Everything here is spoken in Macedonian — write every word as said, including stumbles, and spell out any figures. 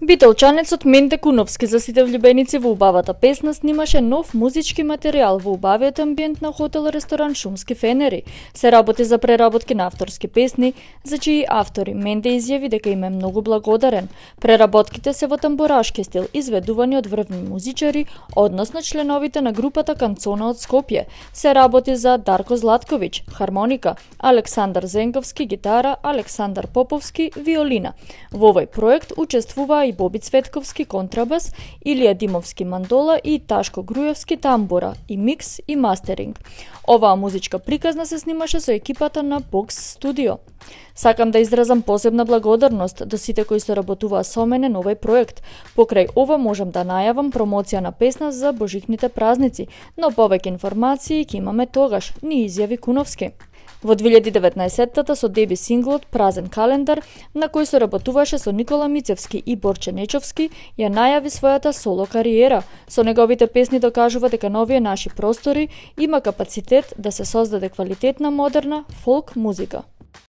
Битолчанецот Менте Куновски за сите влюбеници во убавата песна снимаше нов музички материјал во убавиот амбиент на хотел-ресторан Шумски фенери. Се работи за преработки на авторски песни, за чии автори Менте изјави дека им е многу благодарен. Преработките се во тамбурашки стил, изведувани од врвни музичари, односно членовите на групата Канцона од Скопје. Се работи за Дарко Златковиќ, хармоника, Александар Зенковски, гитара, Александар Поповски, виолина. Во овој проект учествуваа и Боби Цветковски контрабас, Илија Димовски мандола и Ташко Грујовски тамбура, и микс и мастеринг. Оваа музичка приказна се снимаше со екипата на Бокс Студио. Сакам да изразам посебна благодарност до сите кои соработуваа со мене на овој проект. Покрај ова можам да најавам промоција на песна за божичните празници, но повеќе информации ќе имаме тогаш, ни изјави Куновски. Во две илјади и деветнаесеттата со деби синглот Празен календар, на кој соработуваше со Никола Мицевски и Борче Нечовски, ја најави својата соло кариера. Со неговите песни докажува дека на овие наши простори има капацитет да се создаде квалитетна модерна фолк музика.